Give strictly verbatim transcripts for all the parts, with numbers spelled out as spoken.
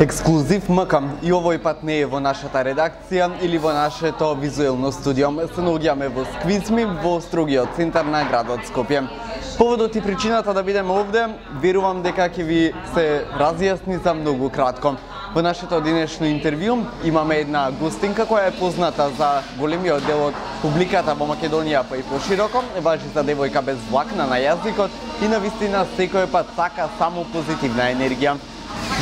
Ексклузив МК и овој пат не е во нашата редакција или во нашето визуелно студио. Се наоѓаме во Сквицми, во строгиот центар на градот Скопје. Поводот и причината да бидеме овде, верувам дека ќе ви се разјасни за многу кратко. Во нашето денешно интервју имаме една гостинка која е позната за големиот дел од публиката во Македонија, па и пошироко. Важи за девојка без влакна на јазикот и навистина секој пат сака само позитивна енергија.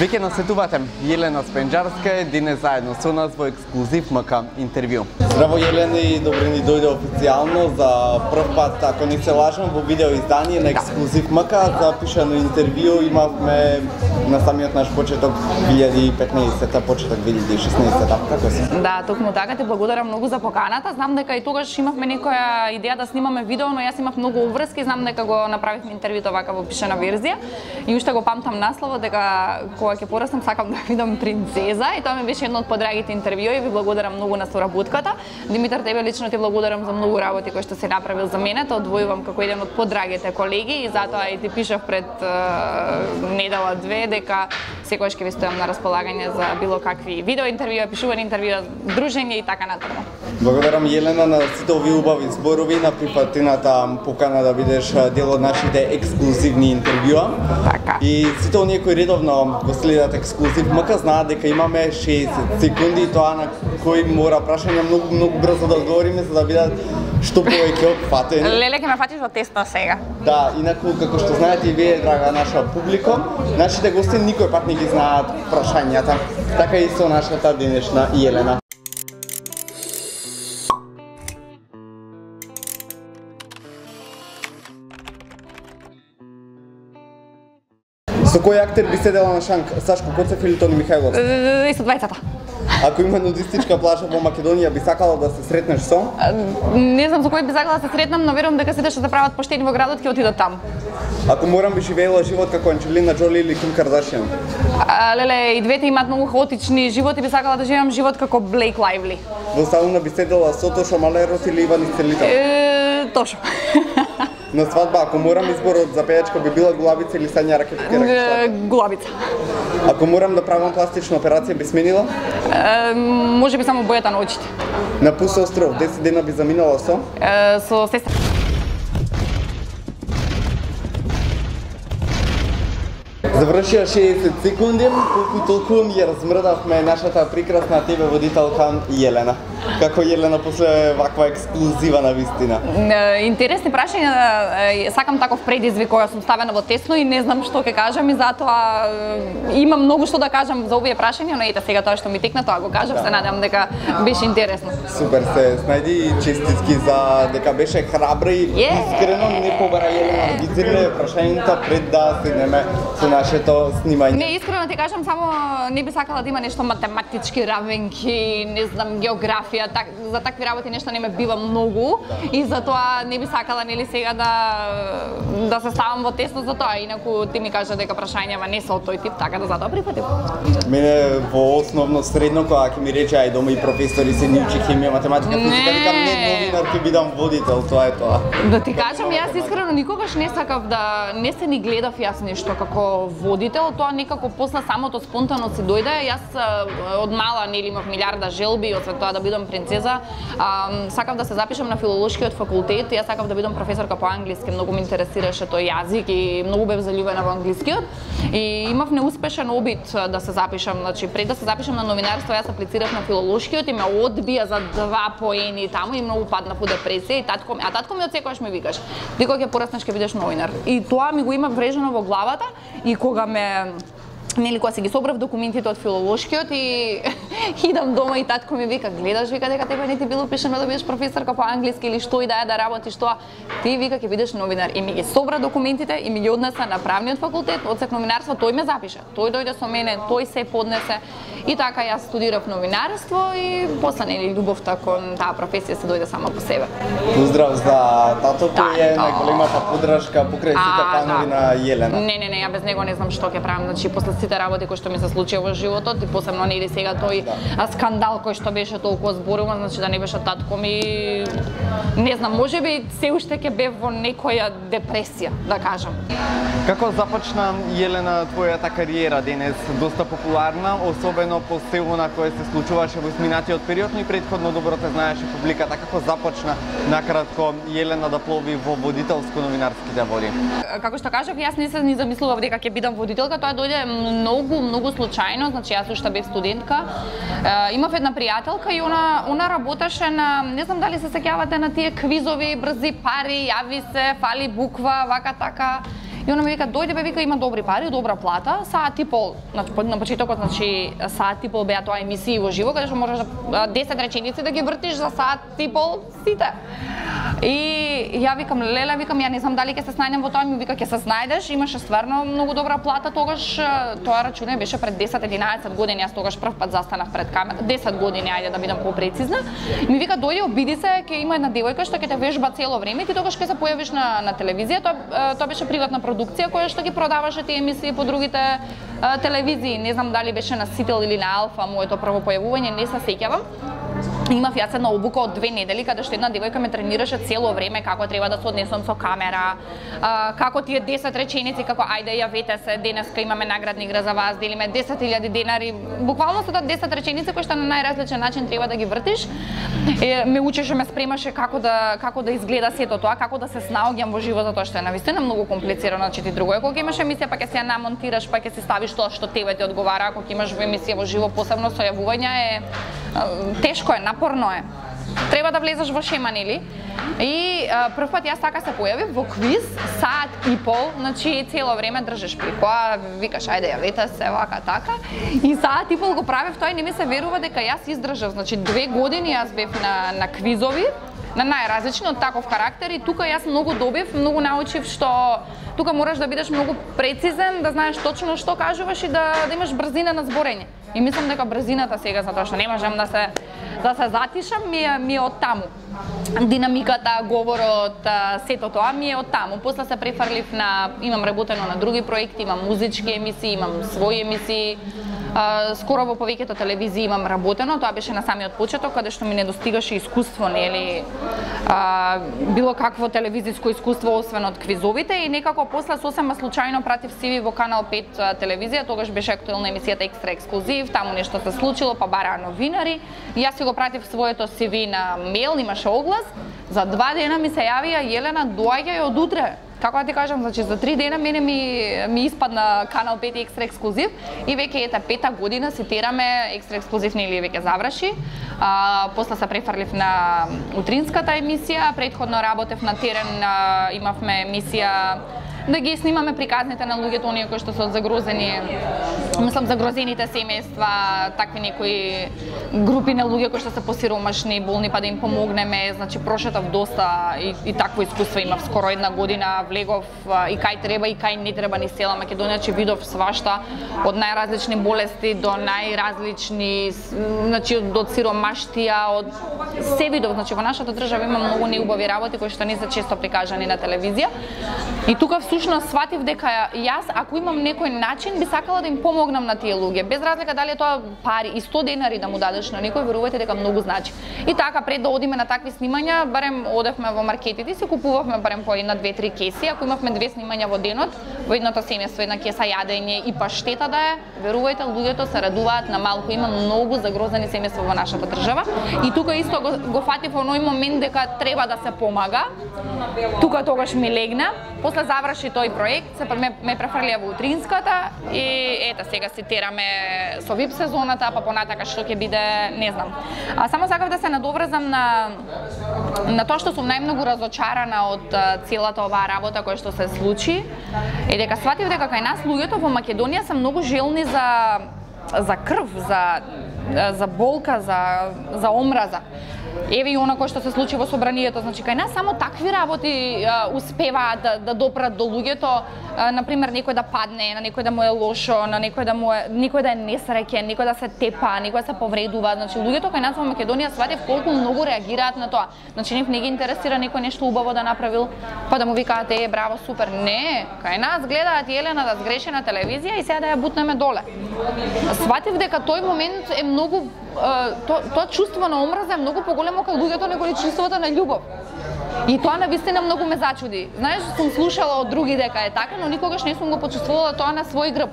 Веќе насетувате, Јелена Спенџарска е денес заедно со нас во ексклузив МК интервју. Здраво Јелена и добре ни дојде официјално за прв пат, ако не се лажам, во видео издание на ексклузив МК. Запишано интервју имавме на самиот наш почеток две илјади и петнаесетта, почеток две илјади и шеснаесетта. Како си? Да, токму така, ти благодарам многу за поканата. Знам дека и тогаш имавме некоја идеја да снимаме видео, но јас имав многу обврски, знам дека го направивме интервјуто вака во пишана верзија и уште го памтам насловот дека кога ќе пораснам сакам да видам принцеза и тоа ми беше едно од подрагите интервјуи и ви благодарам многу на соработката. Димитар, тебе лично ти благодарам за многу работи кои што си направил за мене, тоа одвојувам како еден од подрагите колеги и затоа и ти пишав пред uh, недела две дека секогаш ќе ви стојам на располагање за било какви видео интервјуа, пишувани интервјуа, дружење и така натаму. Благодарам Јелена на сите овие убави зборови, на прифатената покана да бидеш дел од нашите ексклузивни интервјуа. Така. И сите оние кои редовно го следат ексклузив МК знаат дека имаме шеесет секунди и тоа на кои мора прашања многу многу брзо да одговориме за да бидат што повеќе опфатени. Леле, ќе ме фатиш во тесно сега. Да, инаку како што знаете и вие, драга наша публика, нашите гости никој пат не ги знаат прашањата. Така и со нашата денешна Јелена. Со кој актер би седела на шанк? Сашко Коцев или Тони Михајлов? И со двајцата. Ако има нудистичка плажа во Македонија, би сакала да се сретнеш со? Не знам со кој би сакала да се сретнам, но верувам дека сите што се прават поштени во градот ќе отидат таму. Ако морам би живеела живот како Анџелина Џоли или Ким Кардашијан? Леле, и двете имаат многу хаотични животи, би сакала да живеам живот како Блейк Лајвли. Во сауна би седела со Тошо Малерос или Иван Исцелител? Е, Тошо. На свадба, ако морам изборот за пејачка би била Гулабица или Сања Ракетки? Гулабица. Ако морам да правам пластична операција би сменила? Е, може би само бојата на очите. На Пус остров, десет дена би заминала со? Е, со сестра. Завршија шеесет секунди, колку и толку ја размрдавме нашата прекрасна тебе водителка Јелена. Како Јелена после ваква ексклузива на вистина? Интересни прашања, сакам таков предизвик кога сум ставена во тесно и не знам што ќе кажам и затоа имам многу што да кажам за овие прашања, но ете сега тоа што ми текна, тоа го кажав, да. Се надевам дека беше интересно. Супер се снајди и честитки за дека беше храбра и yeah. Искрено не побара Јелена да ги зирле прашањата пред да седнеме со нашето снимање. Не, искрено ти кажам, само не би сакала да има нешто математички равенки, не знам, географија, так, за такви работи нешто не ме бива многу да. И затоа не би сакала нели сега да да се ставам во тесно за тоа, инаку ти ми кажа дека прашањава не се од тој тип, така да затоа прифатив. Мене во основно средно кога ќе ми рече ај дома и професори се ни учи хемија, математика, физика, викам не новинар ќе бидам водител, тоа е тоа. Да ти кажам, јас искрено никогаш не сакав да не се ни гледав јас нешто како водител, тоа некако после самото спонтано си дојде. Јас од мала нели имав милиарда желби, освен тоа да бидам принцеза. А, сакав да се запишам на филолошкиот факултет, јас сакав да бидам професорка по англиски, многу ме интересираше тој јазик и многу бев заљубена во англискиот. И имав неуспешен обид да се запишам, значи пред да се запишам на новинарство, јас аплицирав на филолошкиот и ме одбија за два поени таму и многу паднав во депресија и татко, а татко ми од секогаш ми викаш: "Ти кога ќе пораснеш ќе бидеш новинар." И тоа ми го има врежено во главата и кога ме нели кога се ги собрав документите од филолошкиот и идам дома и татко ми вика: "Гледаш, вика дека тебе не ти било пишано да бидеш професорка по англиски или што и да е да работиш тоа. Ти вика ќе бидеш новинар." И ми ги собра документите и ми ги однеса на правниот факултет, одсек новинарство, тој ме запиша. Тој дојде со мене, тој се поднесе И така јас студирав новинарство и после нели љубовта кон таа професија се дојде сама по себе. Поздрав за тато кој е најголемата поддршка покрај сите фанови на Јелена. Не, не, не, ја без него не знам што ќе правам. Значи после сите работи кои што ми се случија во животот и посебно нели сега тој да. скандал кој што беше толку зборуван, значи да не беше татко ми, не знам, можеби се уште ќе бев во некоја депресија, да кажам. Како започна Јелена твојата кариера денес, доста популарна, особено по се она кое се случуваше во изминатиот период, но и претходно добро те знаеше публиката. Како започна накратко Јелена да плови во водителско-новинарските води? Како што кажав, јас не се ни замислував дека ќе бидам водителка, тоа дојде многу, многу случајно, значи јас уште бев студентка. Е, имав една пријателка и она, она работеше на, не знам дали се сеќавате на тие квизови, брзи пари, јави се, фали буква, вака така. И она ми вика, дојде бе, вика, има добри пари, добра плата, саат и пол, на почетокот, значи, саат и пол беа тоа емисии во живо, каде што можеш да десет реченици да ги вртиш за саат и пол сите. И ја викам, леле, викам, ја не знам дали ќе се снајдем во тоа, ми вика, ќе се снајдеш, имаше стварно многу добра плата тогаш, тоа рачуне беше пред десет-единаесет години, јас тогаш прв пат застанав пред камера, десет години, ајде да бидам попрецизна. Ми вика, дојди, обиди се, ќе има една девојка што ќе те вежба цело време, ти тогаш ќе се појавиш на, на телевизија, тоа, тоа беше приватна продукција која што ги продаваше тие емисии по другите а, телевизии, не знам дали беше на Сител или на Алфа, моето прво појавување, не се сеќавам. Имав јас една обука од две недели каде што една девојка ме тренираше цело време како треба да се однесам со камера, а, како тие десет реченици, како ајде јавете се, денеска имаме наградна игра за вас, делиме десет илјади денари. Буквално се тоа десет реченици кои што на најразличен начин треба да ги вртиш. Е, ме учеше, ме спремаше како да како да изгледа сето тоа, како да се снаоѓам во живо, затоа што е навистина многу комплицирано, значи ти друго е кога имаш емисија па ќе се ја намонтираш, па ќе си ставиш тоа што тебе ти одговара, ако имаш во емисија во живо, посебно со јавувања е тешко е, напорно е. Треба да влезеш во шема, нели? И прв пат јас така се појавив во квиз, саат и пол, значи цело време држиш прикоа, викаш ајде јавете се, вака така. И саат и пол го правев тоа и не ми се верува дека јас издржав, значи две години јас бев на на квизови, на најразлични од таков карактер и тука јас многу добив, многу научив што тука мораш да бидеш многу прецизен, да знаеш точно што кажуваш и да, да имаш брзина на зборење. И мислам дека брзината сега, затоа што не можам да се да се затишам, ми е, ми е од таму. Динамиката, говорот, сето тоа ми е од таму. После се префрлив на, имам работено на други проекти, имам музички емисии, имам своји емисии. Uh, скоро во повеќето телевизии имам работено, тоа беше на самиот почеток, каде што ми недостигаше искуство, нели, uh, било какво телевизиско искуство, освен од квизовите, и некако после сосема случајно пратив си ви во Канал пет uh, телевизија, тогаш беше актуелна емисијата Екстра Ексклузив, таму нешто се случило, па бараа новинари, и јас си го пратив своето си ви на мејл, имаше оглас, за два дена ми се јавија Јелена, доаѓај од утре. Како да ти кажам, значи за три дена мене ми ми испадна Канал пет и Екстра Ексклузив и веќе ета пета година си тераме Екстра Ексклузив, нели веќе заврши. А, после се префрлив на утринската емисија, претходно работев на терен, а, имавме емисија да ги снимаме приказните на луѓето оние кои што се од загрозени, мислам загрозените семејства, такви некои групи на луѓе кои што се посиромашни, болни, па да им помогнеме. Значи прошетав доста и, и такво искуство имав, скоро една година влегов и кај треба и кај не треба ни села Македонија, че видов свашта од најразлични болести до најразлични, значи од сиромаштија, од се видов. Значи во нашата држава има многу неубави работи кои што не се често прикажани на телевизија. И тука всушност сватив дека јас, ако имам некој начин, би сакала да им помогнам на тие луѓе, без разлика дали е тоа пари и сто денари да му дадеш на некој, верувајте дека многу значи. И така пред да одиме на такви снимања, барем одевме во маркетите и се купувавме барем по една, две, три кеси, ако имавме две снимања во денот, во едното семејство една кеса јадење и паштета да е, верувајте, луѓето се радуваат на малку, има многу загрозени семејства во нашата држава. И тука исто го, го фатив оној момент дека треба да се помага. Тука тогаш ми легна, после заврши тој проект, се ме, ме префрлија во утринската и ета сега си тераме со вип сезоната, па понатака што ќе биде, не знам. А само сакав да се надоврзам на на тоа што сум најмногу разочарана од целата оваа работа која што се случи, е дека сватив дека кај нас луѓето во Македонија се многу желни за за крв, за за болка, за за омраза. еве и она кој што се случи во собранието, значи кај нас само такви работи а, успеваат да, да допрат до луѓето, а, на пример некој да падне, на некој да му е лошо, на некој да му е, некој да е несреќен, некој да се тепа, некој да се повредува, значи луѓето кај нас во Македонија сватев колку многу реагираат на тоа. Значи нив не ги интересира некој нешто убаво да направил, па да му викаат е браво, супер. Не, кај нас гледаат Елена да сгреши на телевизија и сега да ја бутнеме доле. Сватев дека тој момент е многу тоа то чувство на омраза е многу поголемо кај луѓето него ли чувството на љубов. И тоа навистина многу ме зачуди. Знаеш, сум слушала од други дека е така, но никогаш не сум го почувствувала тоа на свој грб.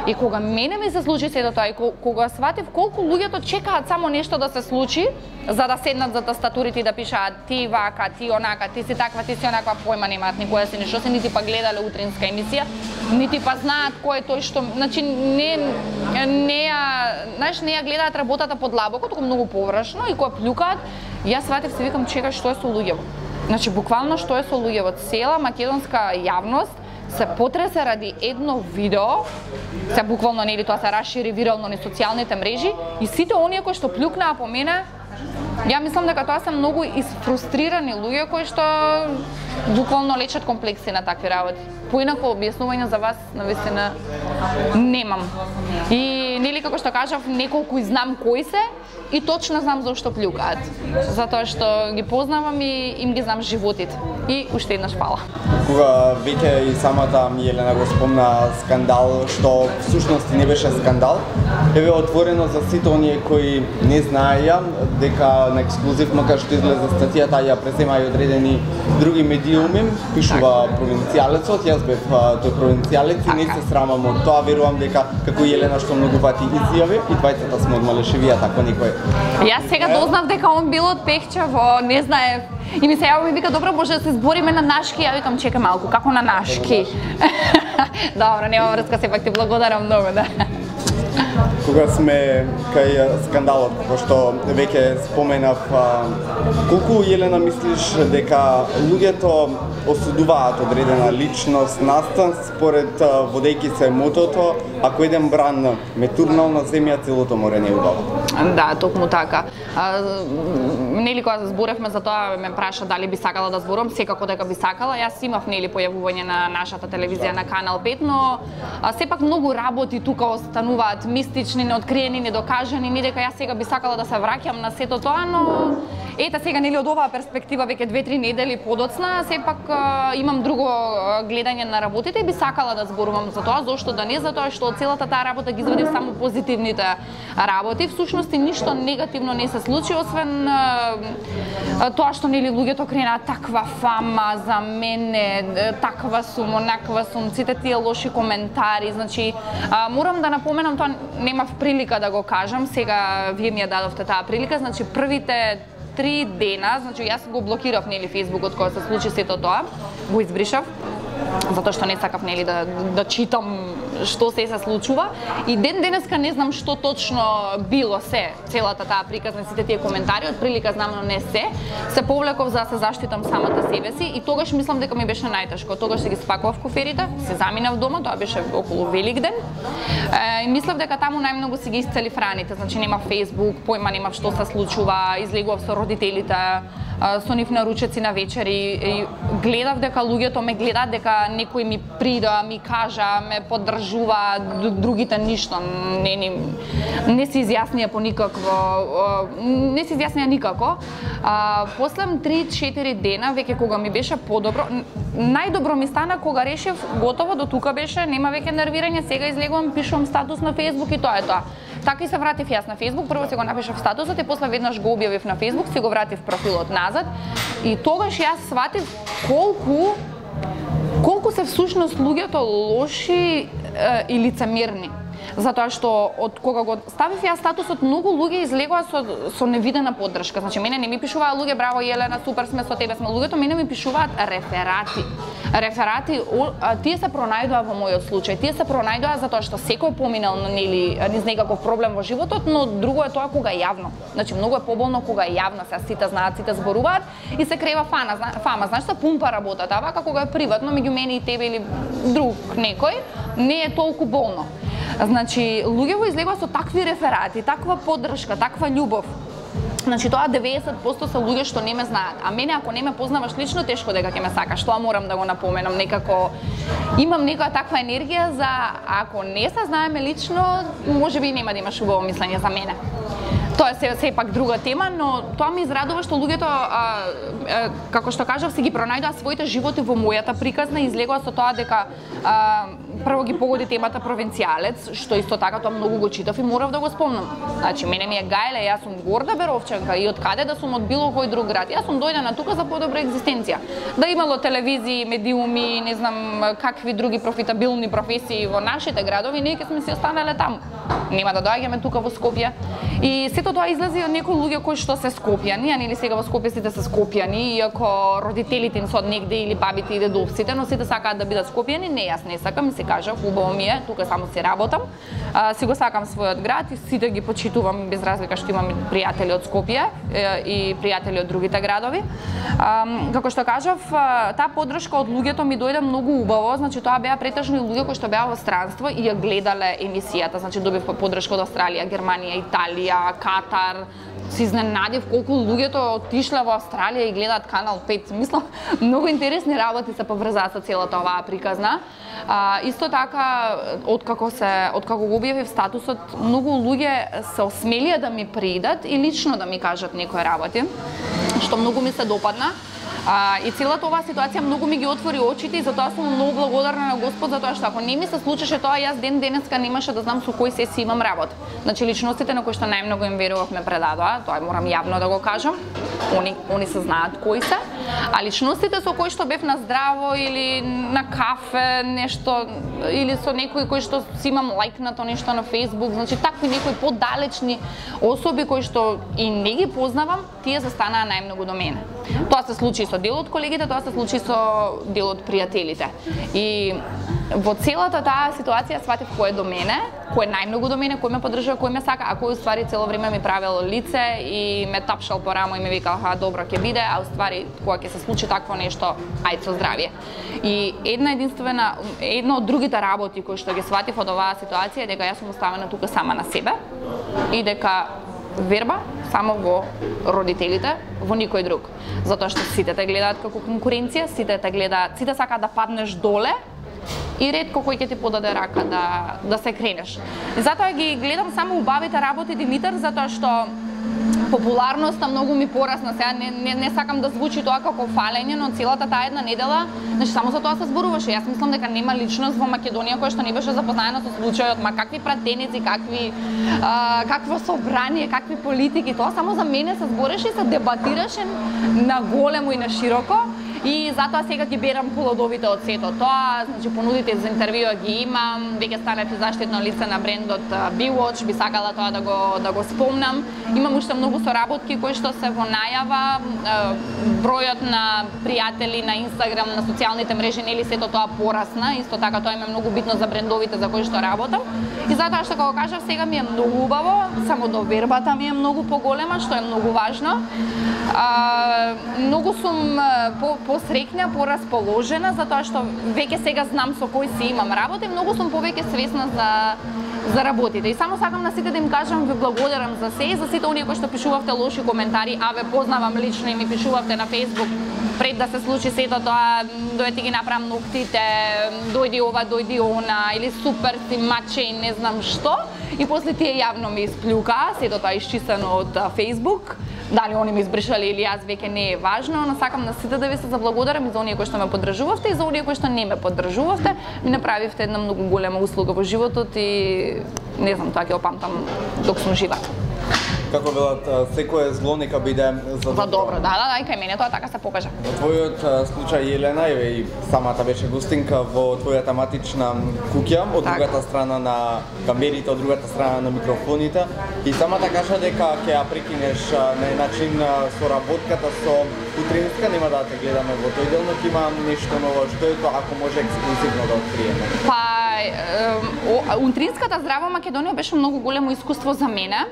И кога мене ми се случи сето тоа и кога сватев колку луѓето чекаат само нешто да се случи за да седнат за тастатурите и да пишаат ти вака, ти онака, ти си таква, ти си онаква, појма немаат никоја си ништо се нити па гледале утринска емисија, нити па знаат кој е тој што, значи не не ја, знаеш, не ја гледаат работата под лабоко, туку многу површно и кога плюкаат, јас сватев се викам чекај што е со луѓето. Значи буквално што е со луѓето, цела македонска јавност се потресе ради едно видео, се буквално нели тоа се расшири вирално на социјалните мрежи и сите оние кои што плюкнаа по мене, ја мислам дека тоа се многу изфрустрирани луѓе кои што буквално лечат комплекси на такви работи. Поинако објаснување за вас навистина немам. И нели како што кажав, неколку и знам кои се и точно знам зашто плюкаат. Затоа што ги познавам и им ги знам животите. И уште еднаш фала. Кога веќе и самата Елена го спомна скандал, што всушност не беше скандал, еве отворено за сите оние кои не знаеја дека на ексклузив, макар што излезе статијата, ја презема и одредени други медиуми, пишува провинцијалецот, јас бев тој провинцијалец и не се срамам од тоа, верувам дека како Елена што многу пати изјави и двајцата сме од Малешевија, така некој. Јас сега дознав дека он бил од Пехчево, не знаев. И ми се јави ми вика добро може да се збориме на нашки, ја викам чекај малку, како на нашки? Добро, нема врска, сепак ти благодарам многу, да. Кога сме кај скандалот, како што веќе споменав, колку Елена мислиш дека луѓето осудуваат одредена личност настан според водејќи се мотото, ако еден бран ме турнал на земја, целото море не е убаво? Да, токму така. А, нели кога зборевме за тоа, ме праша дали би сакала да зборам, секако дека би сакала. Јас имав нели појавување на нашата телевизија на Канал пет, но а, сепак многу работи тука остануваат мистични, неоткриени, недокажани, не дека јас сега би сакала да се враќам на сето тоа, но ета сега нели од оваа перспектива веќе две-три недели подоцна, сепак а, имам друго а, гледање на работите и би сакала да зборувам за тоа, зошто да не, затоа што од целата таа работа ги извадив само позитивните работи. Всушност ништо негативно не се случи, освен а, а, тоа што нели луѓето кренаа таква фама за мене, таква сум, онаква сум, сите тие лоши коментари, значи а, морам да напоменам, тоа немав прилика да го кажам, сега вие ми ја дадовте таа прилика, значи првите три дена, значи јас го блокирав нели фејсбукот кога се случи сето тоа, го избришав, затоа што не сакав нели да да читам што се се случува и ден денеска не знам што точно било се целата таа приказна, сите тие коментари, од прилика знам, но не се. Се повлеков за да се заштитам самата себе си и тогаш мислам дека ми беше најтешко. Тогаш се ги спакував куферите, се заминав дома, тоа беше околу Великден. Е, и мислев дека таму најмногу си ги исцелив раните, значи нема Facebook, појма немав што се случува, излегував со родителите, со нив на ручеци на вечери и гледав дека луѓето ме гледаат, дека некој ми прида, ми кажа, ме поддржува, другите ништо не не не се изјаснија по никакво, не се изјаснија никако. А, после три-четири дена веќе кога ми беше подобро, најдобро ми стана кога решив готово до тука беше, нема веќе нервирање, сега излегувам, пишувам статус на Facebook и тоа е тоа. Така и се вратив јас на Facebook, прво се го напишав статусот и после веднаш го објавив на Facebook, се го вратив профилот назад и тогаш јас сватив колку колку се всушност луѓето лоши е, и лицемерни. Затоа што од кога го ставив ја статусот, многу луѓе излегоа со, со невидена поддршка. Значи, мене не ми пишуваа луѓе, браво Елена, супер сме со тебе, сме луѓето, мене ми пишуваат реферати. Реферати, о, а, тие се пронајдоа во мојот случај, тие се пронајдоа затоа што секој поминал нели низ некаков проблем во животот, но друго е тоа кога е јавно. Значи, многу е поболно кога е јавно, се сите знаат, сите зборуваат и се крева фана, фама, знаеш, се пумпа работата, а вака кога е приватно меѓу мене и тебе или друг некој, не е толку болно. Значи, луѓе во излегоа со такви реферати, таква поддршка, таква љубов. Значи тоа деветдесет проценти се луѓе што не ме знаат, а мене ако не ме познаваш лично, тешко дека ќе ме сакаш. Тоа морам да го напоменам, некако имам некоја таква енергија за ако не се знаеме лично, можеби нема да имаш убаво мислење за мене. Тоа е сепак друга тема, но тоа ми израдува што луѓето, а, а, како што кажав, си ги пронајдоа своите животи во мојата приказна и излегува со тоа дека а, прво ги погоди темата провинцијалец, што исто така тоа многу го читав и морав да го спомнам. Значи, мене ми е гајле, јас сум горда Беровчанка и од каде да сум од било кој друг град. Јас сум дојдена тука за подобра екзистенција. Да имало телевизии, медиуми, не знам какви други профитабилни професии во нашите градови, ние ќе сме си останале таму. Нема да доаѓаме тука во Скопје. И сето тоа излези од некои луѓе кои што се скопјани, а нели сега во Скопје сите се скопјани, иако родителите им се од негде или бабите и дедовците, но сите сакаат да бидат скопјани. Не, јас не сакам, и се кажав, убаво ми е, тука само си работам. А, си го сакам својот град и сите ги почитувам без разлика што имам пријатели од Скопје и пријатели од другите градови. А, како што кажав, таа поддршка од луѓето ми дојде многу убаво, значи тоа беа претежно луѓе кои што беа во странство и ја гледале емисијата, значи добив поддршка од Австралија, Германија, Италија, Катар. Се изненадив колку луѓето отишле во Австралија и гледаат Канал пет. Мислам, многу интересни работи се поврзаа со целата оваа приказна. А, исто така, откако се, откако го објавив статусот, многу луѓе се осмелија да ми придат и лично да ми кажат некои работи, што многу ми се допадна. А, и целата оваа ситуација многу ми ги отвори очите и затоа сум многу благодарна на Господ, затоа што ако не ми се случеше тоа, јас ден денеска немаше да знам со кој се си имам работа. Значи личностите на кои што најмногу им верував ме предадоа, тоа морам јавно да го кажам. Они они се знаат кои се, а личностите со кои што бев на здраво или на кафе, нешто или со некои кои што си имам лајкнато нешто на Facebook, значи такви некои подалечни особи кои што и не ги познавам, тие се станаа најмногу до мене. Тоа се случи со дел од колегите, тоа се случи со дел од пријателите. И во целата таа ситуација сватив кој е до мене, кој е најмногу до мене, кој ме поддржува, кој ме сака, а кој уствари цело време ми правел лице и ме тапшал по рамо и ми викал, ха, добро ќе биде, а уствари кога ќе се случи такво нешто, ајде со здравје. И една единствена, една од другите работи кои што ги сватив од оваа ситуација е дека јас сум оставена тука сама на себе и дека верба само во родителите, во никој друг. Затоа што сите те гледаат како конкуренција, сите те гледаат, сите сакаат да паднеш доле и ретко кој ќе ти подаде рака да да се кренеш. И затоа ги гледам само убавите работи, Димитар, затоа што популарноста многу ми порасна. Сега не, не, не сакам да звучи тоа како фалење, но целата таа една недела, значи само за тоа се зборуваше. Јас мислам дека нема личност во Македонија која што не беше запознаена со случајот, ма какви пратеници, какви а, какво собрание, какви политики, тоа само за мене се збореше и се дебатираше на големо и на широко. И затоа сега ги берам плодовите од сето тоа, значи понудите за интервјуа ги имам, веќе станав и заштитно лице на брендот Bewatch, би сакала тоа да го да го спомнам. Имам уште многу соработки кои што се во најава, бројот на пријатели на Инстаграм, на социјалните мрежи, нели сето тоа порасна, исто така тоа е многу битно за брендовите за кои што работам. И затоа што како кажав, сега ми е многу убаво, само довербата ми е многу поголема, што е многу важно. А, многу сум по посрекна, порасположена, затоа што веќе сега знам со кој си имам работа и многу сум повеќе свесна за за работите. И само сакам на сите да им кажам, ви благодарам за се и за сите оние кои што пишувавте лоши коментари, а ве познавам лично и ми пишувавте на Facebook пред да се случи сето тоа, дојде ги направам ноктите, дојди ова, дојди она, или супер си маче и не знам што. И после тие јавно ми исплюка, сето тоа исчистено од Facebook. Дали они ми избришале или јас, веќе не е важно, но сакам на сите да ви се заблагодарам и за оние кои што ме поддржувавте и за оние кои што не ме поддржувавте. Ми направивте една многу голема услуга во животот и не знам, тоа ќе опамтам док сум жива. Како велат, секое зло нека биде за добро. Добро, да, да, да, и кај мене тоа така се покажа. Во твојот случај, Елена, и самата беше гостинка во твојата матична куќа, од так. Другата страна на камерите, од другата страна на микрофоните, и самата кажа дека ќе ја прекинеш на начин соработката со Утринска, нема да те гледаме во тој дел, но ќе има нешто ново, што е тоа, ако може ексклузивно да откриеме. Па, Утринската Здраво Македонија беше многу големо искуство за мене.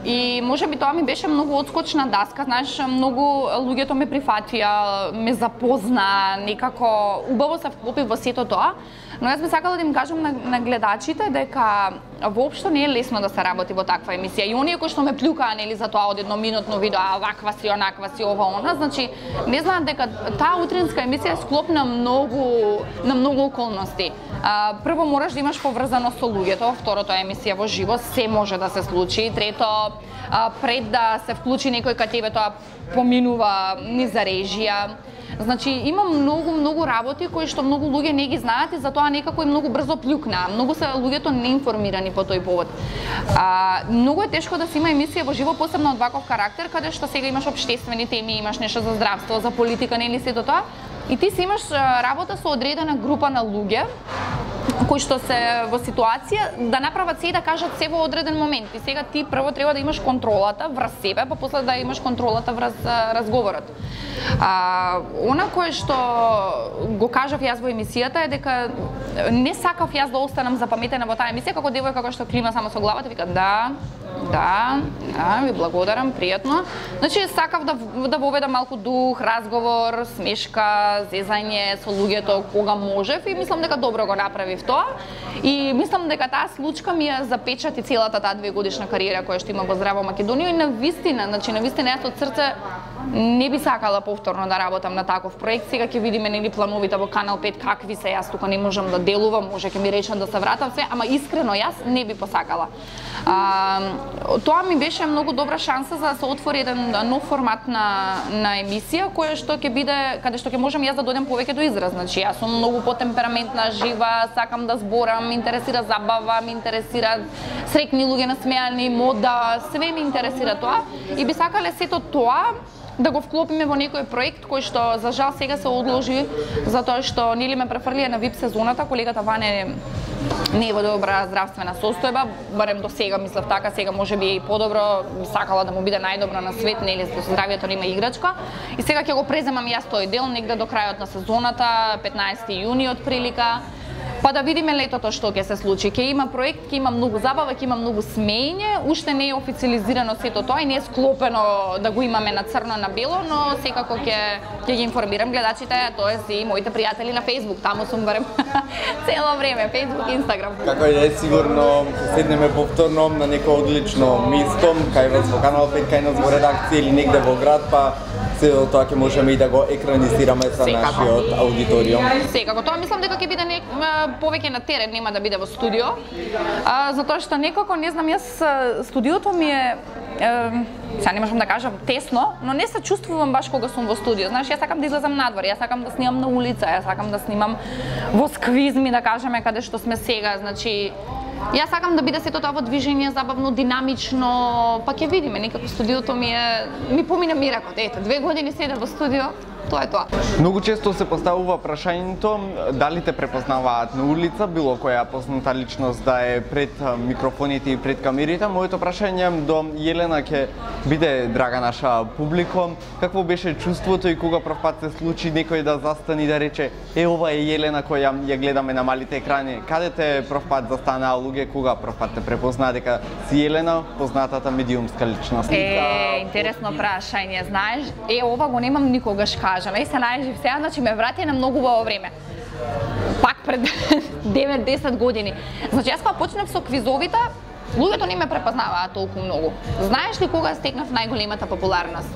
И може би тоа ми беше многу одскочна даска, знаеш, многу луѓето ме прифатија, ме запозна, некако убаво се вклопи во сето тоа. но јас би сакала да им кажам на, на гледачите дека воопшто не е лесно да се работи во таква емисија. И оние кои што ме плюкаа нели за тоа од едноминутно видео, а ваква си, онаква си, ова она, значи не знаат дека таа утринска емисија е склоп на многу на многу околности. А, прво мораш да имаш поврзаност со луѓето, второто е емисија во живо, се може да се случи, трето а, пред да се вклучи некој кај тебе тоа поминува низ за режија. Значи има многу многу работи кои што многу луѓе не ги знаат и затоа некако и многу брзо плюкнаа. Многу се луѓето неинформирани по тој повод. А, многу е тешко да се има емисија во живо, посебно од ваков карактер, каде што сега имаш општествени теми, имаш нешто за здравство, за политика, нели сето тоа. И ти си имаш работа со одредена група на луѓе кои што се во ситуација да направат се и да кажат се во одреден момент. И сега ти прво треба да имаш контролата врз себе, па после да имаш контролата врз разговорот. А, она кое што го кажав јас во емисијата е дека не сакав јас да останам запаметена во таа емисија како девојка која што клима само со главата и вика да, да, да, ви благодарам, пријатно. Значи сакав да да воведам малку дух, разговор, смешка, зезање со луѓето кога можев и мислам дека добро го направив тоа. И мислам дека таа случка ми ја запечати целата таа двегодишна кариера која што има во Здраво Македонија и на вистина, значи на вистина јас од срце не би сакала повторно да работам на таков проект. Сега ќе видиме нели плановите во Канал пет какви се, јас тука не можам да делувам, може ќе ми речат да се вратам се, ама искрено јас не би посакала. А, тоа ми беше многу добра шанса за да се отвори еден нов формат на на емисија која што ќе биде каде што ќе можам јас да дојдем повеќе до израз. Значи јас сум многу потемпераментна, жива, сакам да зборам, ме интересира забава, ме интересира среќни луѓе, насмеани, мода, све ме интересира тоа и би сакале сето тоа да го вклопиме во некој проект кој што за жал сега се одложи затоа што нели ме префрлија на вип сезоната, колегата Ване не е во добра здравствена состојба, барем до сега мислев така, сега може би е и подобро, сакала да му биде најдобро на свет, нели со здравјето нема играчка. И сега ќе го преземам јас тој дел негде до крајот на сезоната, петнаесети јуни од прилика. Па да видиме летото што ќе се случи. Ќе има проект, ќе има многу забава, ќе има многу смеење, уште не е официализирано сето тоа и не е склопено да го имаме на црно на бело, но секако ќе ќе ги информирам гледачите, тоест и моите пријатели на Facebook, таму сум барем цело време, Facebook, Instagram. Како и да е сигурно ќе седнеме повторно на некој одлично место, кај вас во Канал пет, кај нас во редакција или негде во град, па се тоа ќе можеме и да го екранизираме со нашиот аудиториум. Секако, тоа мислам дека ќе биде не, повеќе на терен, нема да биде во студио. А, затоа што некако, не знам, јас студиото ми е, е сега не можам да кажам тесно, но не се чувствувам баш кога сум во студио. Знаеш, јас сакам да излезам надвор, јас сакам да снимам на улица, јас сакам да снимам во сквизми, да кажеме, каде што сме сега, значи јас сакам да биде сето тоа во движење, забавно, динамично, па ќе видиме, некако студиото ми е ми помина миракот. Ете, две години седам во студио. Тоа е тоа. Многу често се поставува прашањето дали те препознаваат на улица, било која позната личност да е пред микрофоните и пред камерите. Моето прашање до Јелена ќе биде, драга наша публико, какво беше чувството и кога прв пат се случи некој да застане и да рече е ова е Јелена која ја гледаме на малите екрани. Каде те прв пат застанаа луѓе, кога прв пат те препознаа дека си Јелена, познатата медиумска личност? Е, интересно прашање, знаеш, е ова го немам никогаш кажам. И се најжив сега, значи ме врати на многу во време. Пак пред девет-десет години. Значи јас кога почнав со квизовите, луѓето не ме препознаваат толку многу. Знаеш ли кога стекнав најголемата популарност?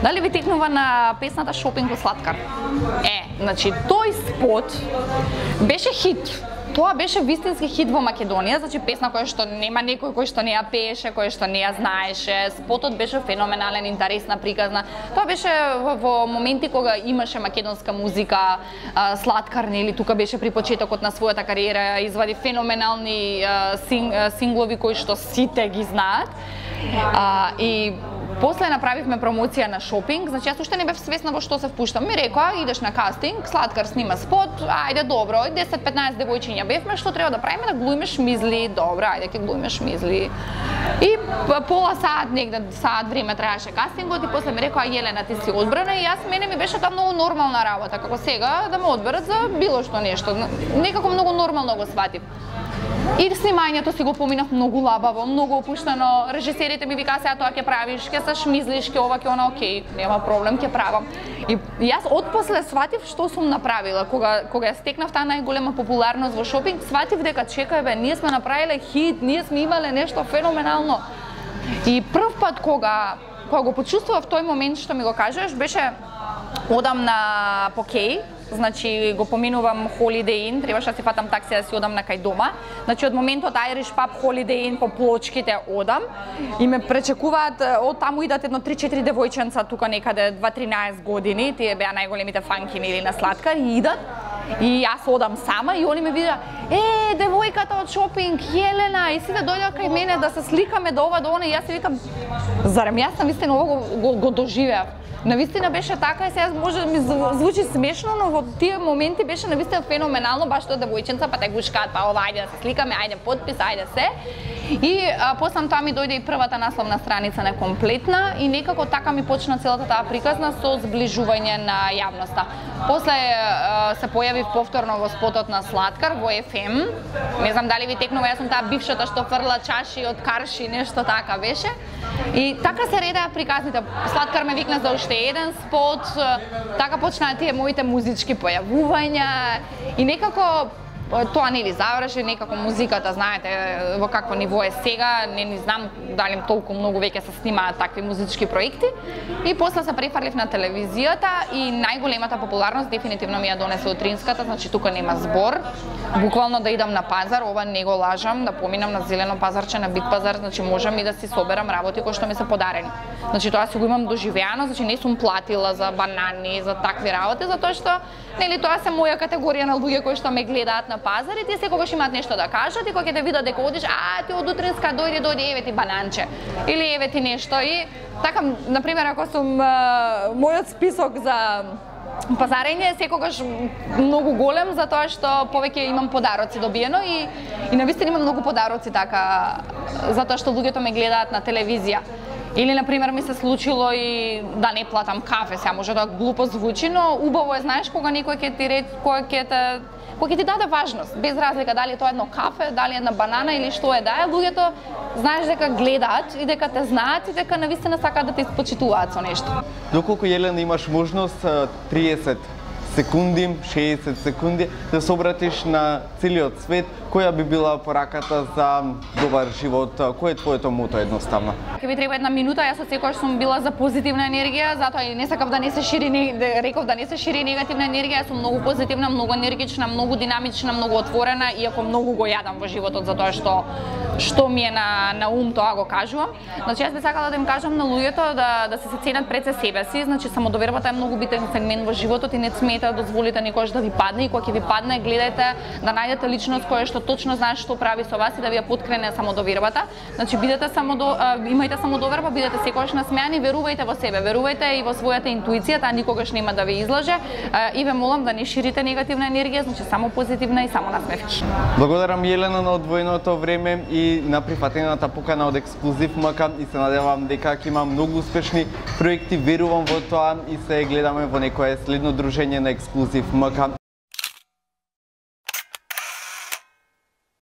Дали ви текнува на песната Шопинг во Сладкар? Е, значи тој спот беше хит. Тоа беше вистински хит во Македонија, значи песна која што нема некој кој што не ја пееше, кој што не ја знаеше. Спотот беше феноменален, интересна, приказна. Тоа беше во, во моменти кога имаше македонска музика, а, Сладкар, нели, тука беше при почетокот на својата кариера, извади феноменални а, син, а, синглови кои што сите ги знаат. А, и после направивме промоција на Шопинг, значи јас уште не бев свесна во што се впуштам. Ми рекоа, идеш на кастинг, Сладкар снима спот, ајде добро, десет-петнаесет девојчиња бевме, што треба да правиме, да глумиме шмизли, добро, ајде ќе глумиме шмизли. И пола саат негде, саат време траеше кастингот и после ми рекоа Јелена ти си одбрана и јас мене ми беше тоа многу нормална работа, како сега да ме одберат за било што нешто. Некако многу нормално го сватив. И снимањето си го поминав многу лабаво, многу опуштено. Режисерите ми викаа сега тоа ќе правиш, ќе се шмизлиш, ќе ова, ќе она, окей, нема проблем, ќе правам. И јас отпосле сватив што сум направила. Кога кога ја стекнав таа најголема популарност во шопинг, сватив дека чекај бе, ние сме направиле хит, ние сме имале нешто феноменално. И прв пат кога кога го почувствував тој момент што ми го кажеш, беше одам на покеј. Значи го поминувам Holiday Inn, требаше да си фатам такси да си одам на кај дома. Значи од моментот Irish Pub, Holiday Inn по плочките одам и ме пречекуваат, од таму идат едно три-четири девојченца тука некаде дваесет-тринаесет години, тие беа најголемите фанкини или на Сладкар и идат. И јас одам сама и они ме видеа, е, девојката од шопинг, Јелена, и сите дојдоа кај мене да се сликаме до ова, до она, и јас си викам, зарем јас навистина ова го, го, го доживеав. Навистина беше така и сега може да ми звучи смешно, но во тие моменти беше навистина феноменално, баш тоа девојченца, па те гушкаат, па ова, ајде да се сликаме, ајде подпис, ајде се. И а, после тоа ми дојде и првата насловна страница на Комплетна и некако така ми почна целата таа приказна со зближување на јавноста. После а, се појавив повторно во спотот на Сладкар, во еф ем. Не знам дали ви текнува, јас сум таа бившата што фрла чаши од карши, нешто така беше. И така се редеа приказните. Сладкар ме викна за уште еден спот, така почнаа тие моите музички појавувања и некако тоа нели заврши, некако музиката, знаете, во какво ниво е сега, не ни знам дали толку многу веќе се снимаат такви музички проекти. И после се префрлив на телевизијата и најголемата популарност дефинитивно ми ја донесе утринската, значи тука нема збор. Буквално да идам на пазар, ова не го лажам, да поминам на зелено пазарче, на бит пазар, значи можам и да си соберам работи кои што ми се подарени. Значи тоа си го имам доживеано, значи не сум платила за банани, за такви работи, затоа што нели тоа се моја категорија на луѓе кои што ме гледаат на пазар и тие секогаш имаат нешто да кажат и кога ќе те видат дека одиш, а ти од утринска дојде, дојде, еве ти бананче или еве ти нешто. И така, на пример, ако сум а, мојот список за пазарење е секогаш многу голем, затоа што повеќе имам подароци добиено и и навистина имам многу подароци така, затоа што луѓето ме гледаат на телевизија. Или, например, ми се случило и да не платам кафе, сега може да глупо звучи, но убаво е, знаеш, кога некој ќе ти рече, кога ќе те кој ќе ти даде важност, без разлика дали е тоа едно кафе, дали една банана или што е да е, луѓето знаеш дека гледаат и дека те знаат и дека навистина сакаат да те испочитуваат со нешто. Доколку, Јелена, имаш можност триесет секунди, шеесет секунди да се обратиш на целиот свет, која би била пораката за добар живот? Кој е твоето мото едноставно? Ќе би треба една минута, јас од секогаш сум била за позитивна енергија, затоа и не сакав да не се шири, не, реков да не се шири негативна енергија, јас сум многу позитивна, многу енергична, многу динамична, многу отворена, иако многу го јадам во животот затоа што што ми е на на ум, тоа го кажувам. Значи јас би сакала да им кажам на луѓето да да се се ценат пред се себе си, значи самодовербата е многу битен сегмент во животот и не смете да дозволите никош да ви падне и кога ќе ви падне, гледајте да најдете личност која што точно знае што прави со вас и да ви ја поткрене самодовербата. Значи бидете самодо, имајте самодоверба, бидете секогаш насмеани, верувајте во себе, верувајте и во својата интуиција, таа никогаш нема да ви излаже и ве молам да не ширите негативна енергија, значи само позитивна и само насмевки. Благодарам, Јелена, на одвоеното време и на прифатената покана од Ексклузив МК и се надевам дека ќе има многу успешни проекти, верувам во тоа и се гледаме во некое следно дружење на Ексклузив МК